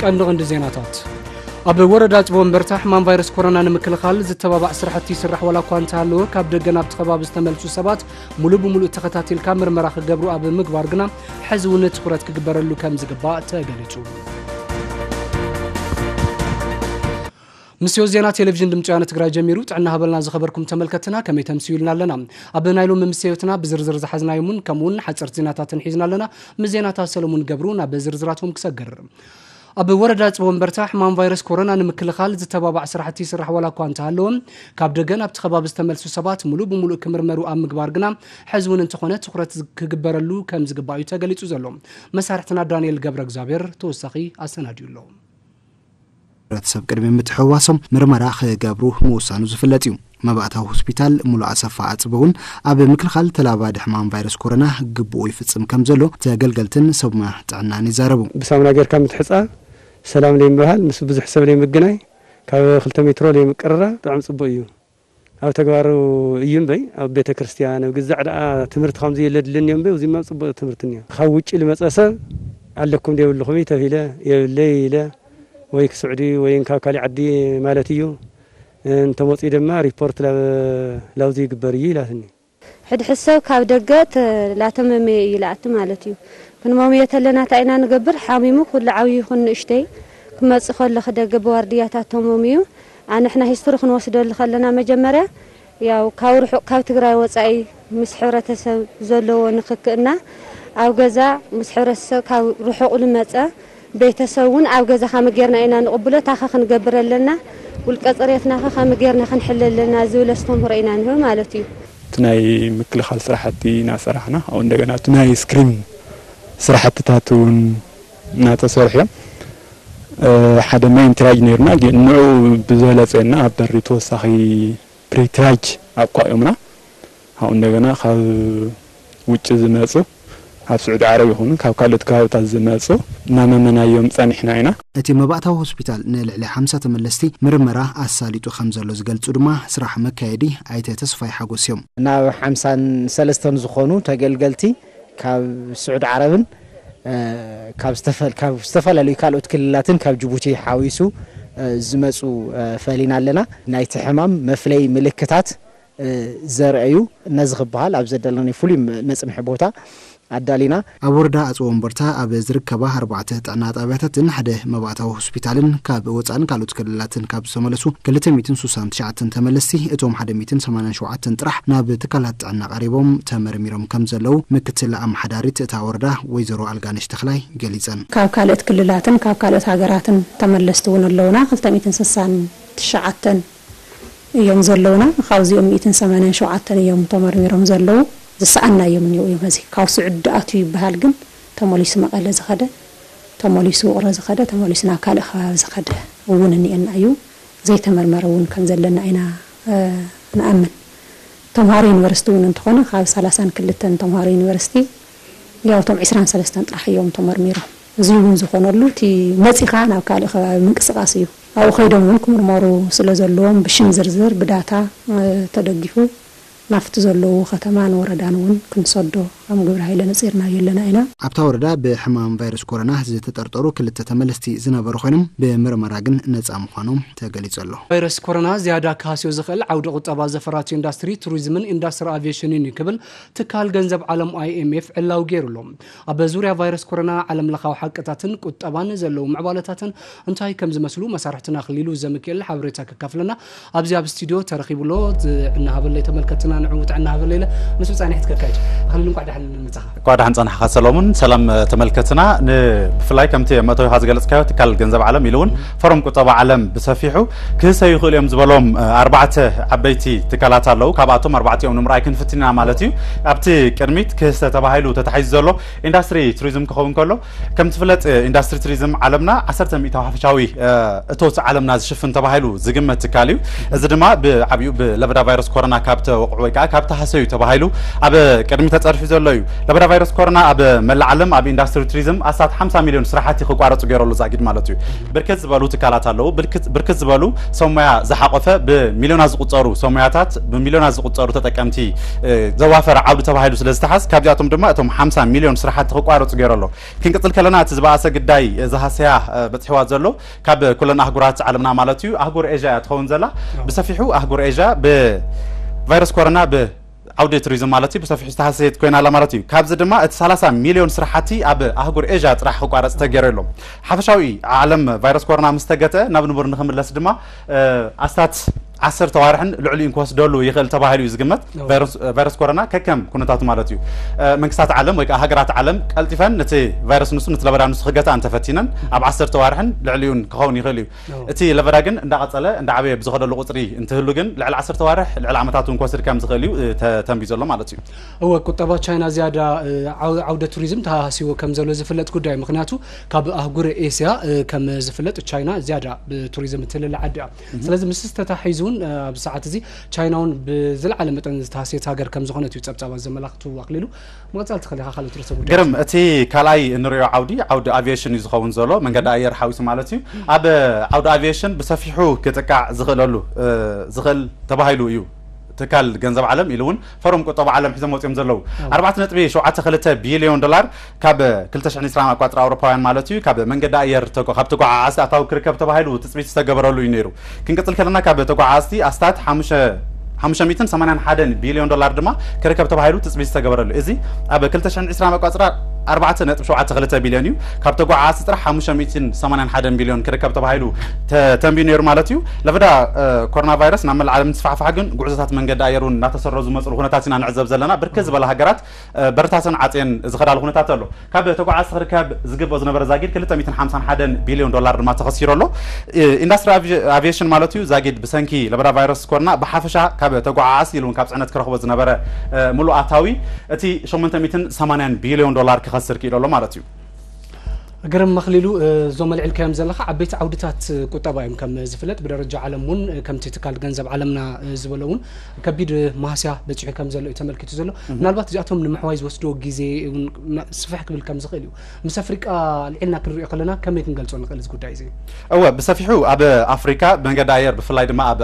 ቀንዲ ቀንዲ ዜናታት። ኣብ ወረዳ ጽቦ እምበርታ ሕማም ቫይረስ ኮሮና ንምክልኻል ዝተባባዕ ስራሕቲ ይስራሕ ዋላ እኳ እንተሃለወ፣ ካብ ደገ ናብቲ ከባቢ ዝተመልሱ ሰባት ሙሉእ ብሙሉእ ተኸታቲልካ ምርመራ ክገብሩ ኣብ ምግባር ግና ሕዚ እውን ትኹረት ክግበረሉ ከም ዝግባእ ተገሊጹ። ምስዮ ዜና ቴሌቪዥን ድምፂ ወያነ ትግራይ ጀሚሩ። ጥዕና ሃበልና ዝኸበርኩም ተመልከትና፣ ከመይ ተምስዩልና ኣለና? ኣብ ናይ ሎሚ ምስዮትና ብዝርዝር ዝሓዝናዮምን ከምኡውን ሓፀርቲ ዜናታትን ሒዝና ኣለና። ምስ ዜናታት ሰለሙን ገብሩ ናብ ዝርዝራቶም ክሰግር። ኣብ ወረዳ ጽቦ እምበርታ ሕማም ቫይረስ ኮሮና ንምክልኻል ዝተባባዕ ስራሕቲ ይስራሕ ዋላ እኳ እንተሃለወ፣ ካብ ደገ ናብቲ ከባቢ ዝተመልሱ ሰባት ሙሉእ ብሙሉእ ክምርመሩ ኣብ ምግባር ግና ሕዚ እውን እንተኾነ ትኹረት ክግበረሉ ከም ዝግባእ እዩ ተገሊጹ ዘሎ። መሳርሕትና ዳንኤል ገብረ እግዚኣብሔር ተወሳኺ ኣሰናዲዩ ኣሎ። ሕብረተሰብ ቅድሚ ምትሕውዋሶም ምርመራ ክገብሩ ምውሳኑ ዝፍለጥ እዩ። መባእታዊ ሆስፒታል ሙሉ ኣሰፋ ኣፅበ እውን ኣብ ምክልኻል ተላባዲ ሕማም ቫይረስ ኮሮና ግብኡ ይፍፅም ከም ዘሎ ተገልገልትን ሰብ ሞያ ጥዕናን ይዛረቡ። ብሳሙና ጌርካ ምትሕፃብ፣ ሰላም ለይምብሃል፣ ምስ ብዙሕ ሰብ ለይምግናይ፣ ካብ ክልተ ሜትሮ ለይምቅርራብ ብጣዕሚ ፅቡቅ እዩ። ኣብ ተግባሩ እዩ እምበይ፣ ኣብ ቤተ ክርስቲያን፣ ኣብ ግዛዕ ደኣ ትምህርቲ ከምዚ የለ ድልኒ እምበይ፣ እዚማ ፅቡቅ ትምህርቲ እኒኦ። ካብ ውጭ ልመፀ ሰብ ኣለኩም ዶ የብልኹም ተፊለ፣ የብለይ ኢለ፣ ወይ ክስዑዲ ወይ ካብ ካሊእ ዓዲ ማለት እዩ። እንተመፅኡ ድማ ሪፖርት ላብ-፣ ላብዚ ይግበር እዩ ኢላትኒ። ሕድሕድ ሰብ ካብ ደገ ተ-፣ ላተመመየ እዩ ላኣቲ ማለት እዩ። ክንመምዮ ተለና እንታይ ኢና ንገብር? ሓሚሙ ኩሉ ዓብዪ ይኹን ንእሽተይ ክመፅእ ከሎ ክደገ ብዋርድያታት ተመምዩ። ኣንሕና ሂስትሪ ክንወስደሉ ከለና መጀመርያ ያው ካብ ርሑቕ ካብ ትግራይ ወፃኢ ምስ ሕብረተሰብ ዘለዎ ንክክእና ኣብ ገዛ ምስ ሕብረተሰብ ካብ ርሑቕ ልመፀ ቤተሰብ እውን ኣብ ገዛ ከመይ ጌርና ኢና ንቕብሎ፣ ታኸ ክንገብር ኣለና፣ ውልቀ ፅሬትናኸ ከመይ ጌርና ክንሕለ ኣለና ዝብል ኣስተምህሮ ኢና ንህብ ማለት እዩ። እቲ ናይ ምክልኻል ስራሕቲ እናሰራሕና፣ ኣብኡ እንደገና እቲ ናይ ስክሪን ስራሕትታት እውን እናተሰርሑ እዮም። እ፣ ሓደ ሜን ትራጅ ነይሩና፣ ግን ንዕኡ ብዝበለፀ እና ኣብ በሪ ተወሳኺ ፕሪትራጅ ኣቋዮምና። ካብኡ እንደገና ካብ ውጭ ዝመፁ፣ ካብ ስዑዲ ዓረብ ይኹኑ ካብ ካልኦት ከባብታት ዝመፁ እናመመናዮም ፀኒሕና ኢና። እቲ መባእታዊ ሆስፒታል ንልዕሊ ሓምሳ ተመለስቲ ምርመራ ኣሳሊጡ ከም ዘሎ ዝገልፁ ድማ ስራሕ መካየዲ ኣይተ ተስፋይ ሓጎስ እዮም። ናብ ሓምሳን ሰለስተን ዝኾኑ ተገልገልቲ ካብ ስዑዲ ዓረብን፣ እ፣ ካብ ዝተፈል-፣ ካብ ዝተፈላለዩ ካልኦት ክልላትን ካብ ጅቡቲ ሓዊሱ፣ እ፣ ዝመፁ፣ እ፣ ፈሊና ኣለና። ናይቲ ሕማም መፍለይ ምልክታት፣ እ፣ ዘርእዩ ነዚ ክበሃል ኣብ ዘደለናዮ ፍሉይ መ-፣ መጽንሒ ቦታ ኣዳሊና። ኣብ ወረዳ ኣጽቢ ወንበርታ ኣብ ዝርከባ ኣርባዕተ ጥዕና ጣብያታትን ሓደ መባእታዊ ሆስፒታልን ካብ ወጻእን ካልኦት ክልላትን ካብ ዝተመለሱ ክልተ ሚእትን ስሳን ትሽዓተን ተመለስቲ፣ እቶም ሓደ ሚእትን ሰማንያን ሸውዓተን ጥራሕ ናብ ትካላት ጥዕና ቀሪቦም ተመርሚሮም ከም ዘለዉ ምክትል ኣመሓዳሪት እታ ወረዳ ወይዘሮ ኣልጋነሽ ተኽላይ ገሊጸን። ካብ ካልኦት ክልላትን ካብ ካልኦት ሃገራትን ተመለስቲ እውን ኣለዉና። ክልተ ሚእትን ስሳን ትሽዓተን እዮም ዘለዉና። ካብዚኦም ሚእትን ሰማንያን ሸውዓተን እዮም ተመርሚሮም ዘለዉ። ዝሰኣንናዮም እኒኦ እዮም። ሕዚ ካብ ስዑዲ ኣትዩ ይበሃል፣ ግን ተመሊሱ መቐለ ዝኸደ፣ ተመሊሱ ውቕሮ ዝኸደ፣ ተመሊሱ ናብ ካልእ ከባቢ ዝኸደ እውን እኒኤና እዩ። ዘይተመርመረ እውን ከም ዘለና ኢና፣ እ፣ ንኣምን። ተምሃሮ ዩኒቨርሲቲ እውን እንተኾነ ካብ ሰላሳን ክልተን ተምሃሮ ዩኒቨርሲቲ ያው እቶም ዕስራን ሰለስተን ጥራሕ እዮም ተመርሚሮም። እዚ እውን ዝኾነሉ እቲ መፂኻ ናብ ካልእ ከባቢ ምንቅስቃስ እዩ። ኣብኡ ከይዶም እውን ክምርመሩ ስለ ዘለዎም ብሽም ዝርዝር ብዳታ፣ እ፣ ተደጊፉ ናብቲ ዘለዉ ከተማን ወረዳን እውን ክንሰዶ ከም ግብረ ሃይለ ነፂርናዮ ኣለና ኢና። ኣብታ ወረዳ ብሕማም ቫይረስ ኮሮና ዝተጠርጠሩ ክልተ ተመለስቲ ዝነበሩ ኮይኖም ብምርመራ ግን ነፃ ምዃኖም ተገሊፁ ኣሎ። ቫይረስ ኮሮና ዝያዳ ክሃስዮ ዝኽእል ዓውዲ ቁጠባ ዘፈራትዮ ኢንዳስትሪ ቱሪዝምን ኢንዳስትሪ ኣቪዬሽንን እዩ ክብል ትካል ገንዘብ ዓለም ኣይ ኤም ኤፍ ዕላዊ ገይሩ ኣሎ። ኣብ ዙርያ ቫይረስ ኮሮና ዓለም ለኻዊ ሓቅታትን ቁጠባን ዘለዉ ምዕባለታትን እንታይ ከም ዝመስሉ መሳርሕትና ኣኽሊሉ ዘሚካኤል ሓበሬታ ከካፍለና ኣብዚ ኣብ ስቱድዮ ተረኺቡ ኣሎ። ጥዕና ሃበለይ ተመልከትና ንዕኡ ጥዕና ሃበለይ ኢለ ምስ ብጻይ ንሕት ከካይድ። ኣኽሊሉ እንቋዕ ደሓን መጻኻ። እንቋዕ ደሓን ጸናሕካ ሰሎሙን። ሰላም ተመልከትና። ን-፣ ብፍላይ ከምቲ መእተዊኻ ዝገለጽካዮ ትካል ገንዘብ ዓለም ኢሉ እውን ፎረም ቁጠባ ዓለም ብሰፊሑ ክህሰዩ ይኽእሉ እዮም ዝበሎም፣ እ፣ ኣርባዕተ ዓበይቲ ትካላት ኣለዉ። ካብኣቶም ኣርባዕቲኦም ንምርኣይ ክንፍትን ኢና ማለት እዩ። ኣብቲ ቅድሚት ክህሰ ተባሂሉ ተታሒዙ ዘሎ ኢንዳስትሪ ቱሪዝም ክኸውን ከሎ፣ ከም ትፍለጥ ኢንዳስትሪ ቱሪዝም ዓለምና ዓሰርተ ሚእታዊ ሓፈሻዊ፣ እ፣ እቶት ዓለምና ዝሽፍን ተባሂሉ ዝግመት ትካል እዩ። እዚ ድማ ብዓብዩ ብለበዳ ቫይረስ ኮሮና ካብ ተወቕዑ ወይ ከዓ ካብ ተሃሰዩ ተባሂሉ ኣብ ቅድሚ ተፀርፊ ዘሎ እዩ። ለበዳ ቫይረስ ኮሮና ኣብ መላእ ዓለም ኣብ ኢንዳስትሪ ቱሪዝም ኣስታት ሓምሳ ሚሊዮን ስራሕቲ ክቋረፁ ገይረሉ ዛጊድ ማለት እዩ። ብርክት ዝበሉ ትካላት ኣለዉ። ብርክት ዝበሉ ሰብ ሞያ ዝሓቆፈ ብሚሊዮናት ዝቁፀሩ ሰብ ሞያታት ብሚሊዮናት ዝቁፀሩ ተጠቀምቲ ዘዋፈረ ዓውዲ ተባሂሉ ስለ ዝተሓዝ ካብዚኣቶም ድማ እቶም ሓምሳ ሚሊዮን ስራሕቲ ክቋረፁ ገይሩ ኣሎ። ክንቅፅል ከለና እቲ ዝበኣሰ ግዳይ ዝሃሰያ በፅሕዋ ዘሎ ካብ ኩለን ኣህጉራት ዓለምና ማለት እዩ ኣህጉር ኤዥያ እያ ትኸውን ዘላ። ብሰፊሑ ኣህጉር ኤዥያ ብቫይረስ ኮሮና ብ ዓውዲ ቱሪዝም ማለት እዩ ብሰፊሑ ዝተሃሰየት ኮይና ኣላ ማለት እዩ። ካብዚ ድማ እቲ ሰላሳ ሚሊዮን ስራሕቲ ኣብ ኣህጉር ኤዥያ ጥራሕ ክቋረፅ ተገይሩ ኣሎ። ሓፈሻዊ ዓለም ቫይረስ ኮሮና ምስ ተገተ ናብ ንቡር ንክምለስ ድማ ኣስታት ዓሰርተ ዋርሕን ልዕሊኡን ክወስደሉ ይኽእል ተባሂሉ እዩ ዝግመት። ቫይረስ ኮሮና ከከም ኩነታቱ ማለት እዩ መንግስታት ዓለም ወይ ከዓ ሃገራት ዓለም ቀልጢፈን ነቲ ቫይረስ ንሱ ነቲ ለበዳ ንሱ ክገታ እንተፈቲነን ኣብ ዓሰርተ ዋርሕን ልዕሊኡን ክኸውን ይኽእል እዩ። እቲ ለበዳ ግን እንዳቐፀለ እንዳዓበየ ብዝኸደሉ ቁፅሪ እንትህሉ ግን ልዕሊ ዓሰርተ ዋርሕ ልዕሊ ዓመታት እውን ክወስድ ከም ዝኽእል እዩ ተተንቢዩ ዘሎ ማለት እዩ። እወ፣ ቁጠባ ቻይና ዝያዳ ዓውደ ቱሪዝም ተሃሲዎ ከም ዘሎ ዝፍለጥ ጉዳይ፣ ምክንያቱ ካብ ኣህጉር ኤስያ ከም ዝፍለጥ ቻይና ዝያዳ ብቱሪዝም እትልለ ዓዲ እያ። ስለዚ ምስ ተታሒዙ እውን ኣብዚ ሰዓት እዚ ቻይና እውን ብዝለዓለ መጠን ዝተሃስየት ሃገር ከም ዝኾነት እዩ ፀብፃባት ዘመላኽቱ። ኣክሊሉ፣ ምቕፃል ትኽእል ኢኻ ካልኦት ርእሰ ጉዳያት። ግርም፣ እቲ ካልኣይ እንሪኦ ዓውዲ ዓውዲ ኣቪዬሽን እዩ ዝኸውን ዘሎ፣ መንገዲ ኣየር ሓዊሱ ማለት እዩ። ኣብ ዓውዲ ኣቪዬሽን ብሰፊሑ ክጥቃዕ ዝኽእለሉ ዝኽእል ተባሂሉ እዩ ትካል ገንዘብ ዓለም ኢሉ እውን ፎረም ቁጠባ ዓለም ሒዞም ወፂኦም ዘለዉ ኣርባዕተ ነጥቢ ሸውዓተ ክልተ ቢልዮን ዶላር ካብ ክልተ ሽሕን ዕስራን ኣቋፅራ ኣውሮፓውያን ማለት እዩ ካብ መንገዲ ኣየር ካብ ተጓዓዓዝቲ ኣታዊ ክርከብ ተባሂሉ ትፅቢት ዝተገበረሉ እዩ ነይሩ። ክንቅፅል ከለና ካብ ተጓዓዓዝቲ ኣስታት ሓሙሽተ ሚእትን ሰማንያን ሓደን ቢልዮን ዶላር ድማ ክርከብ ተባሂሉ ትፅቢት ዝተገበረሉ። እዚ ኣብ ክልተ ሽሕን ዕስራን ኣቋፅራ ኣርባዕተ ነጥቢ ሸውዓተ ክልተ ቢልዮን እዩ። ካብ ተጓዓዓዝቲ ጥራሕ ሓሙሽተ ሚእትን ሰማንያን ሓደን ቢልዮን ክርከብ ተባሂሉ ተተንቢዩ ነይሩ ማለት እዩ። ለበዳ ኮሮና ቫይረስ ናብ መላእ ዓለም እንትስፋሕፋሕ ግን ጉዕዞታት መንገዲ ኣየር እውን እናተሰረዙ ዝመፅሉ ኩነታት ኢና ንዕዘብ ዘለና። ብርክት ዝበላ ሃገራት በርታተን ዓፅየን ዝኸዳሉ ኩነታት ኣሎ። ካብ ተጓዓዝቲ ክርከብ ዝግብኦ ዝነበረ ዛጊድ ክልተ ሚእትን ሓምሳን ሓደን ቢልዮን ዶላር ድማ ተኸሲሩ ኣሎ። ኢንዳስትሪ ኣቪ- ኣቪዬሽን ማለት እዩ ዛጊድ ብሰንኪ ለበዳ ቫይረስ ኮሮና ብሓፈሻ ካብ ተጓዓዓዝቲ ኢሉ እውን ካብ ፅዕነት ክረኽቦ ዝነበረ ሙሉእ ኣታዊ እቲ ሸሞንተ ሚእትን ሰማንያን ቢልዮን ዶላር ክኸስር ክኢሉ ኣሎ ማለት እዩ። ግርም ኣኽሊሉ፣ እዞም ኣልዒልካዮም ዘለኻ ዓበይቲ ዓውድታት ቁጠባ እዮም። ከም ዝፍለጥ ብደረጃ ዓለም እውን ከምቲ ትካል ገንዘብ ዓለምና ዝበሎ እውን ከቢድ ማህስያ በፂሑ ከም ዘሎ እዩ ተመልኪቱ ዘሎ። ምናልባት እዚኣቶም ንምሕዋይ ዝወስድዎ ግዜ እውን ስፍሕ ክብል ከም ዝኽእል እዩ። ምስ ኣፍሪቃ ኣልዒልና ክንሪኦ ከለና ከመይ ክንገልፆ ንኽእል እዚ ጉዳይ እዚ? እወ፣ ብሰፊሑ ኣብ ኣፍሪካ ብመንገዲ ኣየር ብፍላይ ድማ ኣብ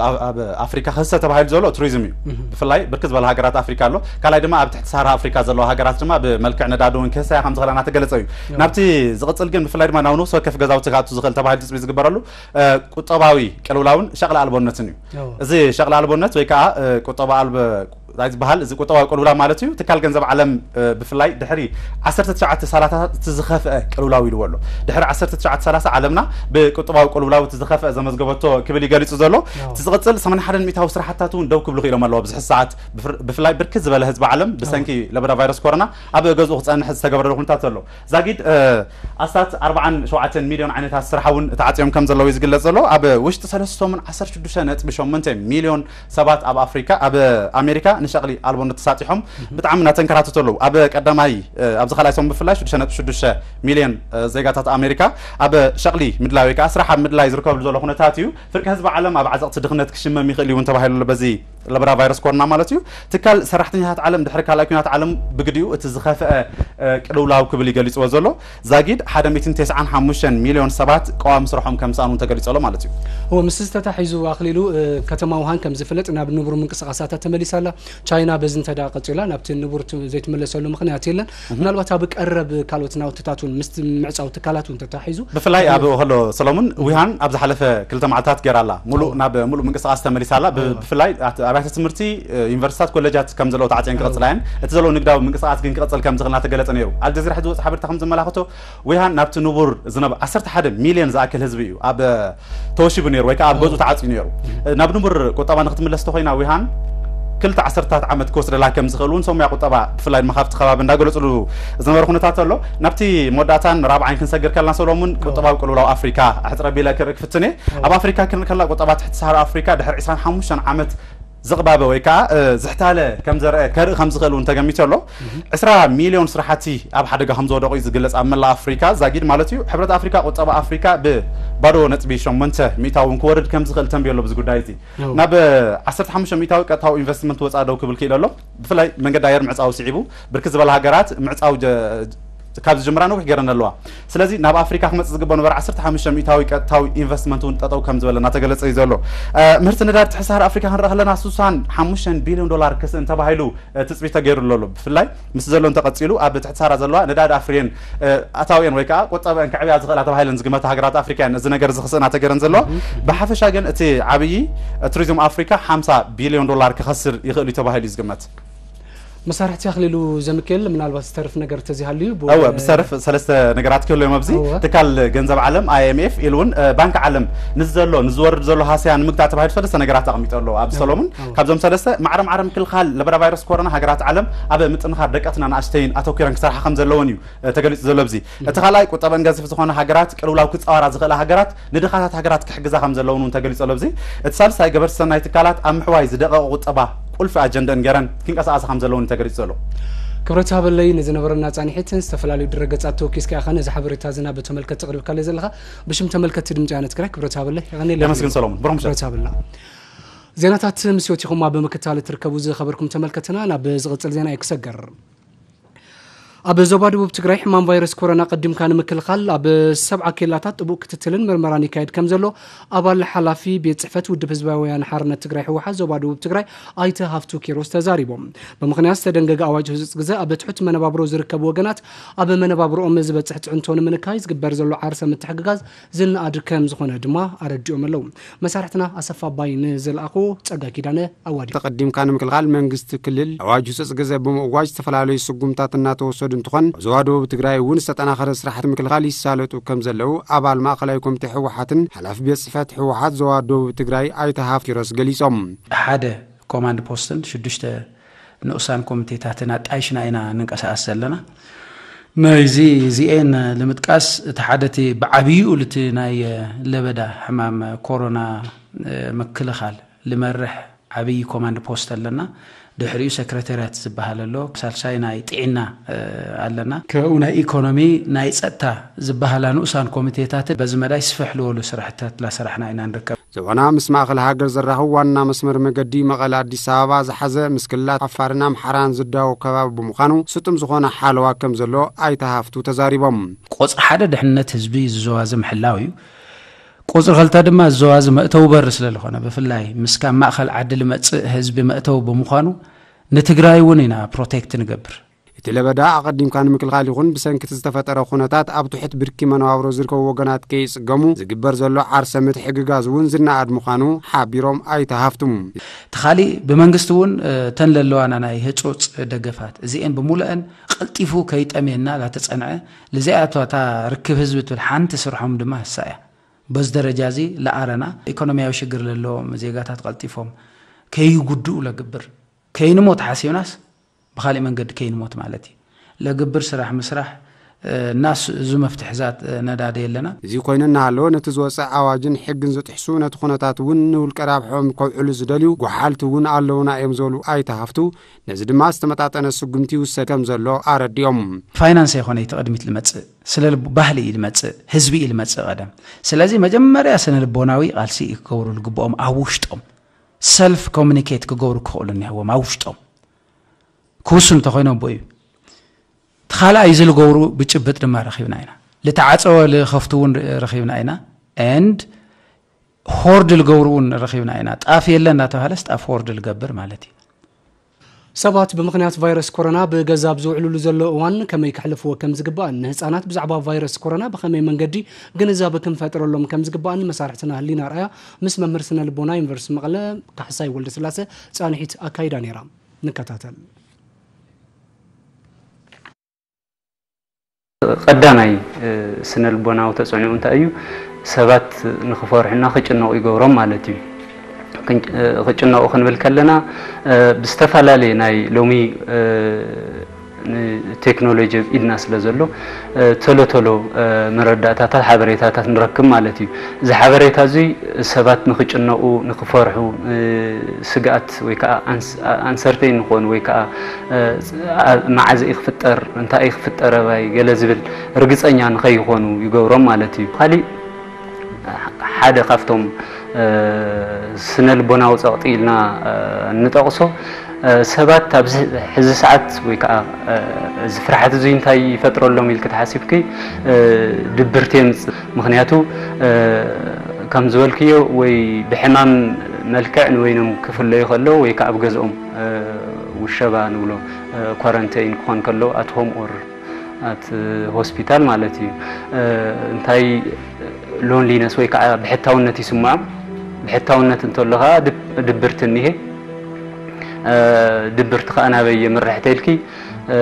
ኣፍሪካ ክህሰ ተባሂሉ ዘሎ ቱሪዝም እዩ። ብፍላይ ብርክት ዝበላ ሃገራት ኣፍሪካ ኣሎ። ካልኣይ ድማ ኣብ ትሕቲ ሳሃራ ኣፍሪካ ዘለዋ ሃገራት ድማ ብመልክዕ ነዳዲ እውን ክህሰያ ከም ዝኽእላ እናተገለፀ እዩ። ናብቲ ዝቕፅል ግን ብፍላይ ድማ ናብ ነፍሲ ወከፍ ገዛውቲ ክኣቱ ዝኽእል ተባሂሉ ትፅቢት ዝግበረሉ ቁጠባዊ ቅልውላውን ሸቕሊ ኣልቦነትን እዩ። እዚ ሸቕሊ ኣልቦነት ወይ ከዓ ቁጠባ ኣልበ ዝበሃል እዚ ቁጠባዊ ቅልውላው ማለት እዩ። ትካል ገንዘብ ዓለም ብፍላይ ድሕሪ ዓሰርተ ትሽዓተ ሰላሳታት እቲ ዝኸፍአ ቅልውላው ኢልዎ ኣሎ። ድሕሪ ዓሰርተ ትሽዓተ ሰላሳ ዓለምና ብቁጠባዊ ቅልውላው እቲ ዝኸፍአ ዘመዝገበቶ ክብል ይገሊፁ ዘሎ። እቲ ዝቕፅል ሰማንያ ሓደ ሚእታዊ ስራሕትታት እውን ደው ክብሉ ክኢሎም ኣለዎ። ኣብዚ ሕዚ ሰዓት ብፍላይ ብርክት ዝበለ ህዝቢ ዓለም ብሰንኪ ለበዳ ቫይረስ ኮሮና ኣብ ገዝኡ ክፀንሕ ዝተገበረሉ ኩነታት ዘሎ። ዛጊድ ኣስታት ኣርባዓን ሸውዓተን ሚልዮን ዓይነታት ስራሕ እውን ተዓፅዮም ከም ዘለዉ እዩ ዝግለፅ ዘሎ። ኣብ ውሽጢ ሰለስተ ሰሙን ዓሰርተ ሽዱሽተ ነጥቢ ሸሞንተ ሚልዮን ሰባት ኣብ ኣፍሪካ ኣብ ኣሜሪካ ንሸቕሊ ኣልቦነት ተሳጢሖም ብጣዕሚ እናተንከራተቱ ኣለዉ። ኣብ ቀዳማይ ኣብዚ ካልኣይ ሰሙን ብፍላይ ሽዱሽተ ነጥቢ ሽዱሽተ ሚልዮን ዜጋታት ኣሜሪካ ኣብ ሸቕሊ ምድላይ ወይ ከዓ ስራሕ ኣብ ምድላይ ዝርከብሉ ዘሎ ኩነታት እዩ። ፍርቂ ህዝቢ ዓለም ኣብ ዓዘቕቲ ድኽነት ክሽመም ይኽእል እዩ እውን ተባሂሉ ኣሎ። በዚ ለበዳ ቫይረስ ኮሮና ማለት እዩ። ትካል ሰራሕተኛታት ዓለም ድሕሪ ካልኣይ ኩናት ዓለም ብግዲኡ እቲ ዝኸፍአ ቅልውላው ክብል ይገሊፅዎ ዘሎ። ዛጊድ ሓደ ሚእትን ተስዓን ሓሙሽተን ሚልዮን ሰባት ቀዋሚ ስርሖም ከም ዝሰኣኑ ተገሊፁ ኣሎ ማለት እዩ። እወ፣ ምስ ዝተታሒዙ ኣኽሊሉ፣ ከተማ ውሃን ከም ዝፍለጥ ናብ ንቡር ምንቅስቃሳታ ተመሊሳ ኣላ። ቻይና በዚ እንተ ደኣ ቀፂላ ናብቲ ንቡር ዘይትምለሰሉ ምኽንያት የለን። ምናልባት ኣብ ቀረብ ካልኦት ናውትታት እውን ምስቲ ምዕፃው ትካላት እውን ተታሒዙ ብፍላይ ኣብ ኦሆሎ ሰሎሙን ዊሃን ኣብ ዝሓለፈ ክልተ መዓልታት ገይራ ኣላ። ሙሉእ ናብ ሙሉእ ምንቅስቃስ ተመሊሳ ኣላ። ብፍላይ ኣብያተ ትምህርቲ፣ ዩኒቨርሲታት፣ ኮሌጃት ከም ዘለዉ ተዓፅየን ክቕፅላ እየን። እቲ ዘለዎ ንግዳዊ ምንቅስቃስ ግን ክቕፅል ከም ዝኽእል እናተገለፀ ነይሩ። ኣልጀዚራ ሕዚ ዝወፅእ ሓበሬታ ከም ዘመላኽቶ ዊሃን ናብቲ ንቡር ዝነበ ዓሰርተ ሓደ ሚልዮን ዝኣክል ህዝቢ እዩ ኣብ ተወሺቡ ነይሩ ወይ ከዓ ኣብ ገዝኡ ተዓፅዩ ነይሩ። ናብ ንቡር ቁጠባ ንክትምለስ ተኮይና ዊሃን ክልተ ዓሰርታት ዓመት ክወስደላ ከም ዝኽእል እውን ሰሙያ ቁጠባ ብፍላይ ድማ ካብቲ ከባቢ እንዳገለፅሉ ዝነበረ ኩነታት ኣሎ። ናብቲ መወዳእታን ራብዓይን ክንሰግር ከለና ሰሎሙን ቁጠባዊ ቅልውላው ኣፍሪካ ኣሕፅረ ቢለ ክርኢ ክፍትን እየ። ኣብ ኣፍሪካ ክንርኢ ከለና ቁጠባ ትሕቲ ሳሃራ ኣፍሪካ ድሕሪ ዕስራን ሓሙሽተን ዓመት ዝቕባበ ወይ ከዓ ዝሕታለ ከም ዘርአ ከርኢ ከም ዝኽእል እውን ተገሚቱ ኣሎ። ዕስራ ሚሊዮን ስራሕቲ ኣብ ሓደጋ ከም ዝወደቑ እዩ ዝግለጽ ኣብ መላእ ኣፍሪካ ዛጊድ ማለት እዩ። ሕብረት ኣፍሪካ ቁጠባ ኣፍሪካ ብባዶ ነጥቢ ሸሞንተ ሚእታዊ እውን ክወርድ ከም ዝኽእል ተንብዮ ኣሎ። ብዚ ጉዳይ እዚ ናብ ዓሰርተ ሓሙሽተ ሚእታዊ ቀጥታዊ ኢንቨስትመንት ወፃእ ደው ክብል ክኢሉ ኣሎ። ብፍላይ መንገዲ ኣየር ምዕፃው ስዒቡ ብርክት ዝበላ ሃገራት ምዕፃው ካብ ዝጀምራ ነዊሕ ገይረን ኣለዋ። ስለዚ ናብ ኣፍሪካ ክመፅእ ዝግበኦ ነበረ ዓሰርተ ሓሙሽተ ሚእታዊ ቀጥታዊ ኢንቨስትመንት እውን ጠጠው ከም ዝበለ እናተገለፀ እዩ ዘሎ። ምህርቲ ነዳዲ ትሕቲ ሰሃራ ኣፍሪካ ክንርኢ ከለና ስሳን ሓሙሽተን ቢልዮን ዶላር ክስእን ተባሂሉ ትፅቢት ተገይሩሉ ኣሎ። ብፍላይ ምስ ዘሎ እንተቐፂሉ ኣብ ትሕቲ ሰሃራ ዘለዋ ነዳዲ ኣፍርየን ኣታዊአን ወይ ከዓ ቁጠበአን ክዕብያ ዝኽእላ ተባሂለን ዝግመታ ሃገራት ኣፍሪካ እየን እዚ ነገር እዚ ክስእና ተገይረን ዘለዋ። ብሓፈሻ ግን እቲ ዓብዪ ቱሪዝም ኣፍሪካ ሓምሳ ቢልዮን ዶላር ክኸስር ይኽእል እዩ ተባሂሉ እዩ ዝግመት። መሳርሕቲ ኣኽሊሉ ዘምክል ምናልባት ዝተርፍ ነገር ተዚሃልዩ እወ ብዝተርፍ ሰለስተ ነገራት ክህሉ እዮም ኣብዚ ትካል ገንዘብ ዓለም ኣይኤምኤፍ ኢሉ እውን ባንክ ዓለም ንዝዘሎ ንዝወርድ ዘሎ ሃስያ ንምግታእ ተባሂሉ ሰለስተ ነገራት ኣቕሚጡ ኣሎ ኣብዚ ሰሎሙን። ካብዞም ሰለስተ ማዕረ ማዕረ ምክልኻል ለበዳ ቫይረስ ኮሮና ሃገራት ዓለም ኣብ ምጥንኻር ደቀትን ኣናእሽተይን ኣተኪረን ክሰርሓ ከም ዘለወን እዩ ተገሊፁ ዘሎ ኣብዚ። እቲ ካልኣይ ቁጠበን ገዚፍ ዝኾነ ሃገራት ቅልውላው ክፃወራ ዝኽእላ ሃገራት ንድኻታት ሃገራት ክሕግዛ ከም ዘለውን እውን ተገሊፁ ኣሎ ኣብዚ። እቲ ሳልሳይ ገበርቲ ሰናይ ትካላት ኣብ ምሕዋይ ዝደቐቐ ቁጠባ ቁልፊ ኣጀንደን ገይረን ክንቀሳቐሳ ከም ዘለውን ተገሊፁ ዘሎ። ክብረት ሃበለይ ንዝነበረና ፃንሒትን ዝተፈላለዩ ድረገፃት ተወኪስካ ኢኻ ነዚ ሓበሬታ ዝና ብተመልከት ተቕርብካለይ ዘለኻ። ብሽም ተመልከትቲ ድምፂ ወያነ ትግራይ ክብረት ሃበለይ የቐኔለ። የመስግን ሰሎሙን። ብሩኽ ምሸት። ክብረት ሃበልና። ዜናታት ምስ ወቲኹማ ብምክታል ትርከቡ ዝኸበርኩም ተመልከትና ናብ ዝቕፅል ዜና እዩ ክሰገር። ኣብ ዞባ ደቡብ ትግራይ ሕማም ቫይረስ ኮሮና ቀዲምካ ንምክልኻል ኣብ ሰብዓ ኬላታት ጥቡቅ ክትትልን ምርመራን ይካየድ ከም ዘሎ ኣባል ሓላፊ ቤት ፅሕፈት ውድብ ህዝባዊ ወያነ ሓርነት ትግራይ ህወሓት ዞባ ደቡብ ትግራይ ኣይተ ሃፍቱ ኪሮስ ተዛሪቦም። ብምኽንያት ዝተደንገገ ኣዋጅ ህፁፅ ግዘ ኣብ ትሑት መነባብሮ ዝርከቡ ወገናት ኣብ መነባብሮኦም ዝበፅሕ ፅዕንቶ ንምንካይ ዝግበር ዘሎ ዓርሰ ምትሕግጋዝ ዝነኣድ ከም ዝኾነ ድማ ኣረዲኦም ኣለዉ። መሳርሕትና ኣሰፋ ኣባይ ንዝለኣኹ ፀጋ ኪዳነ ኣዋዲዱ። ተቐዲምካ ንምክልኻል መንግስቲ ክልል ኣዋጅ ህፁፅ ግዘ ብምእዋጅ ዝተፈላለዩ ስጉምታት እናተወሰዱ እንትኾን ኣብ ዞባ ደቡብ ትግራይ እውን ዝተጠናኸረ ስራሕቲ ምክልኻል ይሳለጡ ከም ዘለዉ ኣባል ማእኸላይ ኮሚቴ ህወሓትን ሓላፊ ቤት ፅሕፈት ህወሓት ዞባ ደቡብ ትግራይ ኣይተ ሃፍቱ ኪሮስ ገሊፆም። ሓደ ኮማንድ ፖስትን ሽዱሽተ ንኡሳን ኮሚቴታትን ኣጣይሽና ኢና ንንቀሳቐስ ዘለና። ናይዚ እዚኤን ንምጥቃስ እቲ ሓደ እቲ ብዓብይኡ ልቲ ናይ ለበዳ ሕማም ኮሮና ምክልኻል ልመርሕ ዓብይ ኮማንድ ፖስት ኣለና። ድሕሪኡ ሰክረተርያት ዝበሃል ኣሎ። ሳልሳይ ናይ ጥዕና ኣለና። ካብኡ ናይ ኢኮኖሚ ናይ ፀጥታ ዝበሃላ ንኡሳን ኮሚቴታት በዚ መዳይ ስፍሕ ዝበሉ ስራሕትታት እናሰራሕና ኢና ንርከብ። ዞባና ምስ ማእኸል ሃገር ዘራኽብ ዋና መስመር መገዲ መቐለ ኣዲስ ኣበባ ዝሓዘ ምስ ክልላት ዓፋርን ኣምሓራን ዝዳወብ ከባቢ ብምዃኑ ስጡም ዝኾነ ሓለዋ ከም ዘሎ ኣይተ ሃፍቱ ተዛሪቦም። ቁፅሪ ሓደ ድሕንነት ህዝቢ እዚ ዞባ እዚ ምሕላው እዩ። ቁፅሪ ክልተ ድማ እዚ ዞባ እዚ መእተዊ በሪ ስለዝኾነ ብፍላይ ምስ ካብ ማእኸል ዓዲ ልመፅእ ህዝቢ መእተዊ ብምዃኑ ንትግራይ እውን ኢና ፕሮቴክት ንገብር። እቲ ለበዳ ኣቐዲምካ ንምክልኻል ይኹን ብሰንኪ እቲ ዝተፈጠረ ኩነታት ኣብ ትሑት ብርኪ መነባብሮ ዝርከቡ ወገናት ከይፅገሙ ዝግበር ዘሎ ዓርሰ ምትሕግጋዝ እውን ዝነኣድ ምዃኑ ሓቢሮም ኣይተ ሃፍቱ። እቲ ካሊእ ብመንግስቲ እውን እተን ለለዋና ናይ ህፁፅ ደገፋት እዚኤን ብሙሉአን ቀልጢፉ ከይጠምየና ላተፀንዐ ልዚኣቶ እታ ርክብ ህዝቢ ትብል ሓንቲ ስርሖም ድማ እሳ እያ። በዚ ደረጃ እዚ ለኣረና ኢኮኖሚያዊ ሽግር ለለዎም ዜጋታት ቀልጢፎም ከይጉድኡ ለግብር ከይንሞት ሓሲብናስ ብኻሊእ መንገዲ ከይንሞት ማለት እዩ። ለግብር ስራሕ ምስራሕ እናስ እዚ መፍትሒ ዛት ነዳደ የለና። እዚ ኮይኑ እናሃለወ ነቲ ዝወፀ ኣዋጅን ሕግን ዝጥሕሱ ነቲ ኩነታት እውን ንውልቀ ራብሖም ከውዕሉ ዝደልዩ ጎሓልቲ እውን ኣለውና እዮም ዝበሉ ኣይተ ሃፍቱ ነዚ ድማ ዝተመጣጠነ ስጉምቲ ይውሰድ ከም ዘሎ ኣረዲኦም። ፋይናንስ ኣይኮነ እቲ ቅድሚት ልመፅእ ስለ ባህሊ እዩ ልመፅእ ህዝቢ እዩ ልመፅእ ቀደም። ስለዚ መጀመርያ ስነ ልቦናዊ ቃልሲ እዩ ክገብሩ ልግብኦም ኣብ ውሽጦም ሰልፍ ኮሚኒኬት ክገብሩ ክኽእሉ እኒሀዎም ኣብ ውሽጦም ክውስኑ ተኮይኖም ብኡ እዩ። እቲ ካልኣይ እዚ ልገብሩ ብጭብጥ ድማ ረኺብና ኢና። ልተዓፀወ ልኸፍቱ እውን ረኺብና ኢና and ሆርድ ልገብሩ እውን ረኺብና ኢና። ጣፍ የለ እናተባሃለስ ጣፍ ሆርድ ልገብር ማለት እዩ። ሰባት ብምኽንያት ቫይረስ ኮሮና ብገዛ ኣብ ዝውዕሉሉ ዘሎ እዋን ከመይ ከሕልፍዎ ከም ዝግባእን ንህፃናት ብዛዕባ ቫይረስ ኮሮና ብኸመይ መንገዲ ግንዛበ ክንፈጥረሎም ከም ዝግባእን መሳርሕትና ህሊና ኣርኣያ ምስ መምህር ስነ ልቦና ዩኒቨርሲቲ መቐለ ካሕሳይ ወልደስላሰ ፃንሒት ኣካይዳ ነይራ። ንከታተል። ቀዳማይ ስነ ልቦናዊ ተፅዕንኡ እንታይ እዩ? ሰባት ንክፈርሑና ክጭነቑ ይገብሮም ማለት እዩ። ክጭነቑ ክንብል ከለና ብዝተፈላለየ ናይ ሎሚ ንቴክኖሎጂ ኣብ ኢድና ስለ ዘሎ፣ እ፣ ቶሎ ቶሎ፣ እ፣ መረዳእታታት፣ ሓበሬታታት ንረክብ ማለት እዩ። እዚ ሓበሬታ እዚ ሰባት ንኽጭነቑ፣ ንኽፈርሑ፣ እ፣ ስግኣት ወይ ከዓ ኣንስ-፣ ኣ-፣ ኣንሰርተይን ንኾኑ ወይ ከዓ፣ እ፣ ኣ-፣ መዓዝ እዩ ክፍጠር፣ እንታይ እዩ ክፍጠር ኣባይ ገለ ዝብል ርግፀኛ ንኸይኾኑ ይገብሮም ማለት እዩ። ካሊእ ሓደ ካብቶም፣ እ፣ ስነ ልቦናዊ ጸቕጢ ኢልና፣ እ፣ እንጠቕሶ፣ እ፣ ሰባት ኣብዚ ሕዚ ሰዓት ወይ ከዓ፣ እ፣ እዚ ፍርሓት እዚ እንታይ ይፈጥረሎም ኢልኪ ተሓሲብኪ፣ እ፣ ድብርቲ የምጽእ። ምኽንያቱ፣ እ፣ ከም ዝበልክዮ ወይ ብሕማም መልክዕ ንበይኖም ክፍለዩ ከለዉ ወይ ከዓ ኣብ ገዝኦም፣ እ፣ ውሸባ ንብሎ፣ እ፣ ኳረንተይን ክኾን ከሎ ኣት ሆም ኦር ኣት ሆስፒታል ማለት እዩ። እ፣ እንታይ ሎንሊነስ ወይ ከዓ ብሕታውነት ይስምዖም። ብሕታውነት እንተሎ ከዓ ድብ-፣ ድብርቲ እኒሄ። እ፣ ድብርቲ ከዓ ናበይ የምርሕ ተልኪ፣ እ፣